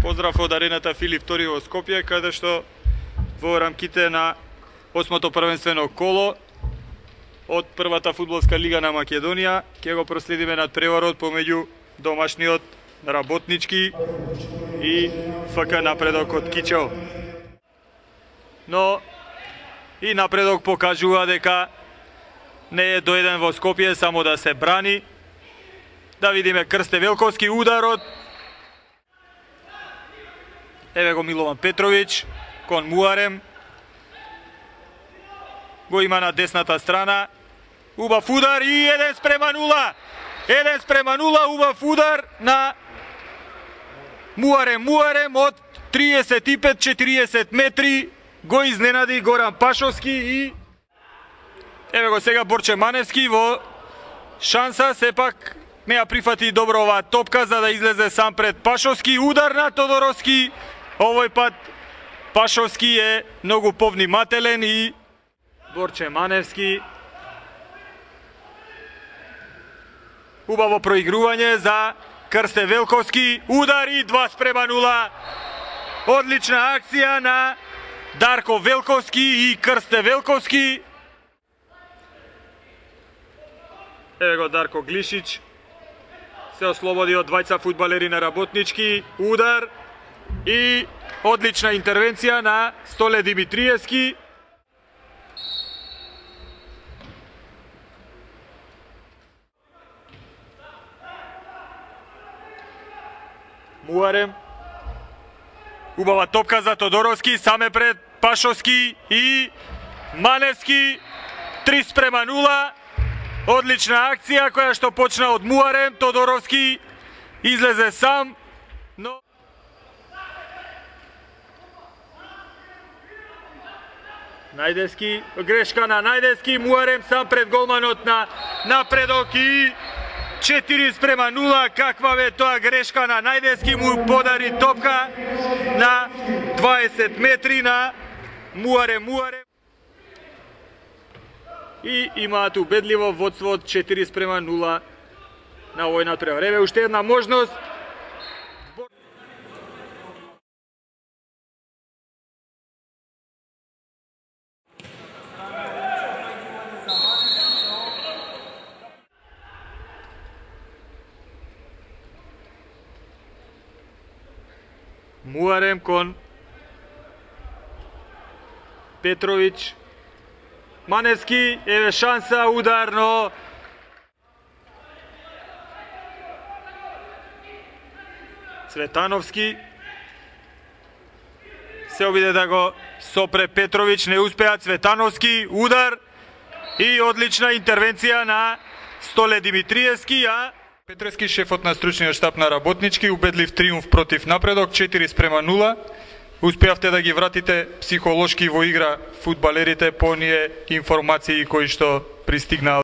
Поздрав од арената Филип Тори во Скопје, каде што во рамките на 8-то првенствено коло од првата фудбалска лига на Македонија ќе го проследиме надпреварот помеѓу домашниот Работнички и ФК Напредок од Кичево. Но и Напредок покажува дека не е доеден во Скопје само да се брани. Да видиме Крсте Велковски ударот. Еве го Милован Петрович кон Муарем. Го има на десната страна. Убав удар и 1:0. 1:0, убав удар на Муарем. Муарем од 35-40 метри го изненади Горан Пашовски и еве го сега Борче Маневски во шанса, сепак не ја прифати добро оваа топка за да излезе сам пред Пашовски. Удар на Тодоровски. Овој пат Пашовски е многу повнимателен и Борче Маневски. Убаво проигрување за Крсте Велковски. Удар и 2:0. Одлична акција на Дарко Велковски и Крсте Велковски. Еве го Дарко Глишич. Се ослободи од двајца фудбалери на Работнички. Удар и одлична интервенција на Столе Димитриевски. Муарем. Убава топка за Тодоровски, саме пред Пашовски и Маневски. 3:0. Одлична акција која што почна од Муарем. Тодоровски излезе сам, но Најдевски, грешка на Најдевски, Муарем сам пред голманот на Напредок и 4:0. Каква бе тоа грешка на Најдевски, му подари топка на 20 метри на Муарем. И имаат убедливо водство од 4:0 на овој надпревар. Еве уште една можност. Муарем кон Петрович. Маневски, еве шанса, удар, но Цветановски се обиде да го сопре Петрович, не успеа. Цветановски, удар и одлична интервенција на Столе Димитриевски, а Петровски, шефот на стручниот штаб на Работнички, убедлив триумф против Напредок, 4:0. Успеавте да ги вратите психолошки во игра фудбалерите по оние информации кои што пристигнаа